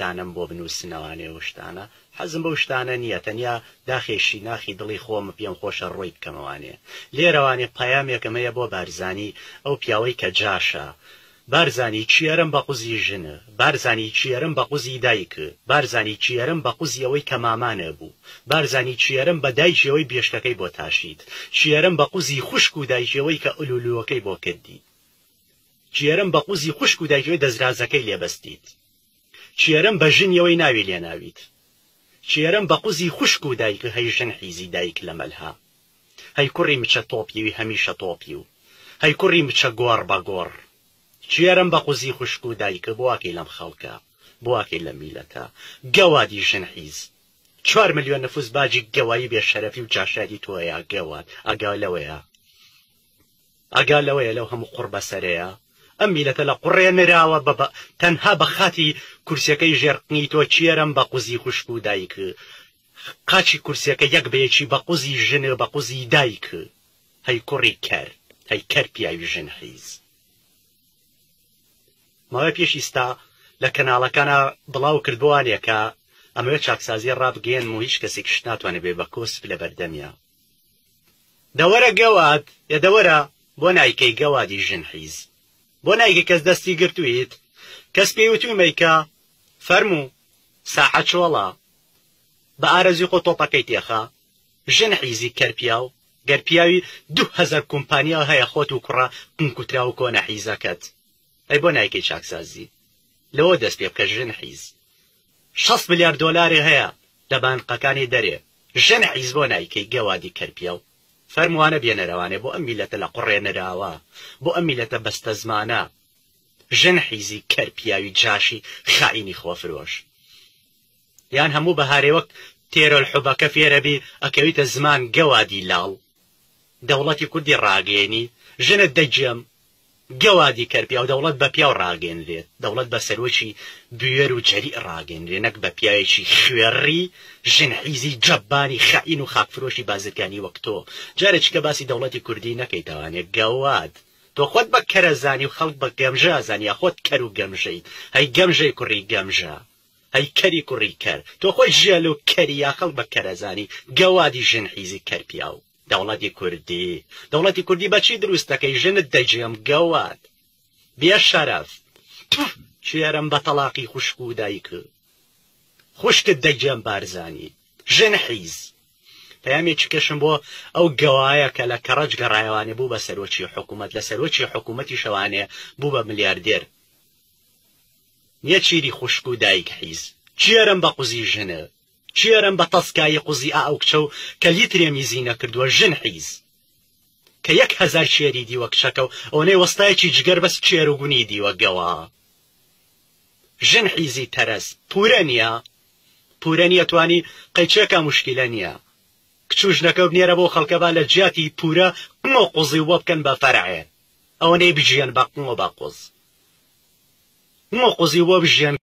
شتانەم بۆ بنووسنەوانێ و شتانە حەزم بەو شتانە نییە تەنیا داخێشی ناخی دڵی خۆمە پێم خۆشە ڕۆی بکەمەوانێ لێرەوانێ پەیامێکم هەیە بۆ بارزانی ئەو پیاوەی کە جاشە بارزانی کێرم بە قوزی ژن بارزانی کێرم بە قوزی دایک بارزانی کێرم بە قوزی ئەوەی کە مامانە بوو بارزانی کێرم بە دایکی ئەوەی بێشکەکەی بۆ تاشیت کێرم بە قوزی خوشک و دایکی ئەوەی کە ئولولوەکەی بۆ کردیت کێرم بە قوزی خوشک و دایکی ئەوەی دەزرازەکەی لێ بەستیت کێرم بە ژنی ئەوەی ناوی لێ ناویت کێرم بە قوزی خوشک و دایک هەی ژن حیزی دایک لە مەلها هەی کوڕی مچە تۆپیوی هەمیشە تۆپیو هەی کوڕی مچە گۆڕ بە گۆڕ کێرم بە قوزی خوشک و دایک بۆ واکەی لەم خەڵکە بۆ واکەی لەم میلەتە گەوادی ژن حیز چوار ملیۆن نفوس باجی گەوایی بێ شەرەفی و جاشایەتی تۆیە گەواد ئاگا لەوەیە ئاگا لەوەیە لەو هەموو قوڕ بەسەرەیە ئەم میلەتە لە قوڕێ نراوە بە تەنها بە خاتی کورسیەکەی ژێر قنی تۆ کێرم بە قوزی خوشک و دایک قاچی کورسیەکە یەک بە یەکی بە قوزی ژن بە قوزی دایک هەی کوڕی کەر هەی کەر پیاوی ژن حیز. ماوەی پێش ئیستا لە کەناڵەکانا بڵاو کردبوانێ کە ئەمەوێ چاکسازی ڕابگەیەنم و هیچ کەسێکیش ناتوانێ بێ بە کۆسپ لە بەردەمیا. دەوەرە گەواد ئێ دەوەرە بۆ نایکەی گەوادی ژن حیز بۆ نایکەی کەس دەستی گرتویت کەس پێی وتوی مەیکە فەرموو ساحە چۆڵە بە ئارەزوی خۆ تۆپەکەی تێخە ژن حیزی کەر پیاو گەر پیاوی 2000 کومپانیا هەیە خۆت و کوڕە قنکوتراو و کۆنە حیزەکەت ئەی بۆ نایکەی چاکسازی لەوە دەست پێ بکە ژن حیز شەست ملیار دۆلاری هەیە لە بانقەکانی دەرێ ژن حیز بۆ نایکەی گەوادی کەر پیاو فەرمووانە بێنەرەوانێ بۆ ئەم میلەتە لە قوڕێ نراوە بۆ ئەم میلەتە بەستەزمانە ژن حیزی کەر پیاوی جاشی خائینی خۆفرۆش. یان هەموو بەهارێ وەک تێرۆل حوبەکە فێرەبی ئەکەویتە زمان گەوادی لاڵ دەوڵەتی کوردی ڕاگەیەنی ژنت دەگێم گەوادی کەر پیاو دەوڵەت بە پیاو ڕاگەنرێت دەوڵەت بە سەرۆکی بوێر و جەریء ڕاگەنرێ نەک بە پیاوێکی خوێڕی ژن حیزی جەبانی خائین و خاکفرۆشی بازرگانی وەک تۆ جارێکیکە باسی دەوڵەتی کوردی نەکەیتەوانێ گەواد تۆ خۆت بە کەرەزانی و خەڵک بە گەمژە ئەزانی یا خۆت کەر و گەمژەیت هەی گەمژەی کوڕی گەمژە هەی کەری کوڕی کەر تۆ خۆی ژێل و کەری یا خەڵک بە کەرەزانی گەوادی ژن حیزی کەر پیاو دەوڵەتی کوردی دەوڵەتی کوردی بەچی دروست دەکەی ژنت دەگێم گەواد بێ شەرەف تف کێرم بە تەڵاقی خوشک و دایک خوشکت دەگێم بارزانی ژن حیز پەیامێکی کەشم بۆ ئەو گەوایە کە لە کەڕەج گەڕایەوانێ بوو بە سەرۆکی حکوومەت لە سەرۆکی حکوومەتیشەوانێ بوو بە ملیاردێر نێچیری خوشک و دایک حیز. کێرم بە قوزی ژنە. کێرم بە تەسکایی قوزی ئا ئەو کچە و کە لیترێ میزی نەکردووە ژن حیز. کە 1000 کێری دیوە کچەکە و ئەوەنەی وەستایەکی جگەر بەس کێر و گونی دیوە گەوا. ژن حیزی تەرەز. پورە نیە؟ پورە نیە توانی قەیچێکا موشکیلە نیە. کچ و ژنەکە بنێرە بۆ خەڵکە با لە جیاتی پورە قنگ و قوزی و بۆ بکەن بە فەرعێ. ئەوەنەی بژیەن بە قنگ و بە قوز. قنگ و قوزی و بۆ بژیەن.